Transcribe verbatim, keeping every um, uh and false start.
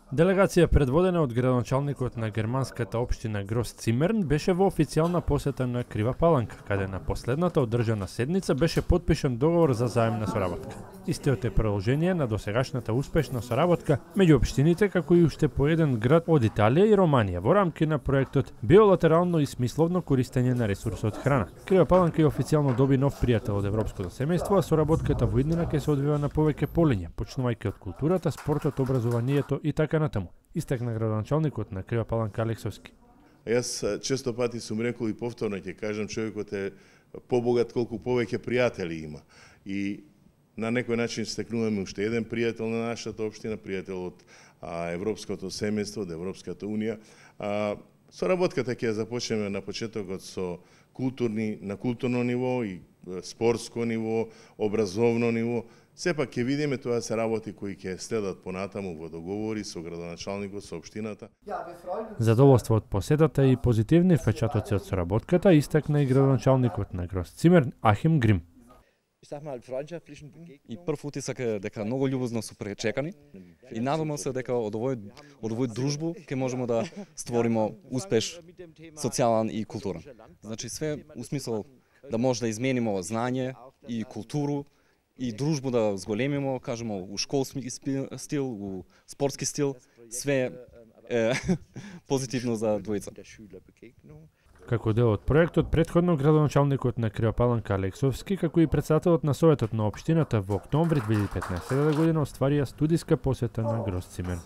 Делегација предводена од градоначалникот на германската општина Грос Цимерн беше во официјална посета на Крива Паланка, каде на последната одржана седница беше потпишан договор за заемна соработка. Истиот е продолжение на досегашната успешна соработка меѓу општините, како и уште по еден град од Италија и Романија во рамки на проектот биолатерално и смисловно користење на ресурсот храна. Крива Паланка и официјално доби нов пријател од европското семејство, а соработката во иднина ќе се одвива на повеќе полиња, почнувајќи од културата, спортот, образованието и така натаму, истакна градоначалникот на Крива Паланка Алексовски. Јас често пати сум рекол и повторно ќе кажам, човекот е побогат колку повеќе пријатели има. И на некој начин стекнуваме уште еден пријател на нашата општина, пријател од а, Европското семејство, од Европската унија. А, соработката ќе започнеме на почетокот со културни, на културно ниво и спортско ниво, образовно ниво. Сепак ќе видиме, тоа се работи кои ќе следат понатаму во договори со градоначалникот, со општината. Задоволство од посетата и позитивни впечатоци од соработката истакна и градоначалникот на Грос Цимерн Ахим Грим. И прв утисак е дека многу љубозно су пречекани и надевам се дека од овој од овој дружбу ќе можеме да створиме успеш социјален и културен. Значи све у смисол да може да измениме знање и културу и дружбу да зголемимо, кажемо, у школски стил, у спортски стил, све е позитивно за двојца. Како дел од проектот, претходно градоначалникот на Крива Паланка Алексовски, како и претседателот на Советот на општината во октомври две илјади и петнаесета година остварија студиска посета на Грос Цимерн.